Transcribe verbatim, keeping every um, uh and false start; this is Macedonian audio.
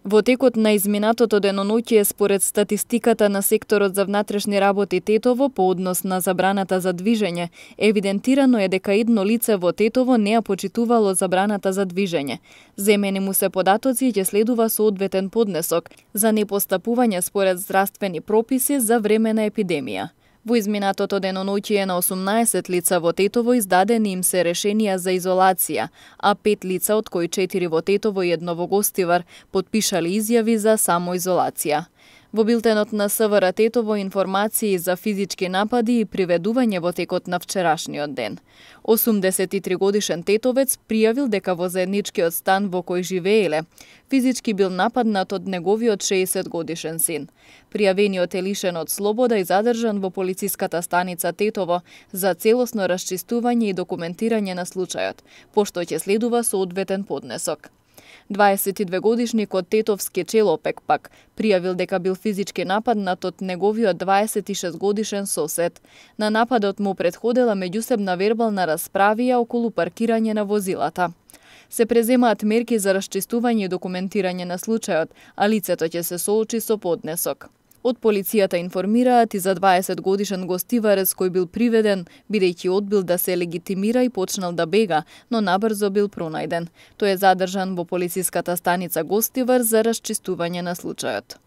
Во текот на изминатото деноноќе, според статистиката на секторот за внатрешни работи Тетово по однос на забраната за движење, евидентирано е дека едно лице во Тетово не ја почитувало забраната за движење. Земени му се податоци и ќе следува соодветен поднесок за непостапување според здравствени прописи за време на епидемија. Во изминатото деноноќе на осумнаесет лица во Тетово издадени им се решенија за изолација, а пет лица, од кои четири во Тетово и едно во Гостивар, потпишале изјави за самоизолација. Во билтенот на СВР Тетово информации за физички напади и приведување во текот на вчерашниот ден. осумдесет и три годишен тетовец пријавил дека во заедничкиот стан во кој живееле, физички бил нападнат од неговиот шеесет годишен син. Пријавениот е лишен од слобода и задржан во полициската станица Тетово за целосно расчистување и документирање на случајот, пошто ќе следува соодветен поднесок. дваесет и две годишникот тетовски Челопек пак пријавил дека бил физички нападнат од неговиот дваесет и шест годишен сосед. На нападот му претходела меѓусебна вербална расправија околу паркирање на возилата. Се преземаат мерки за расчистување и документирање на случајот, а лицето ќе се соочи со поднесок. Од полицијата информираат и за дваесет годишен гостиварец кој бил приведен, бидејќи одбил да се легитимира и почнал да бега, но набрзо бил пронајден. Тој е задржан во полициската станица Гостивар за расчистување на случајот.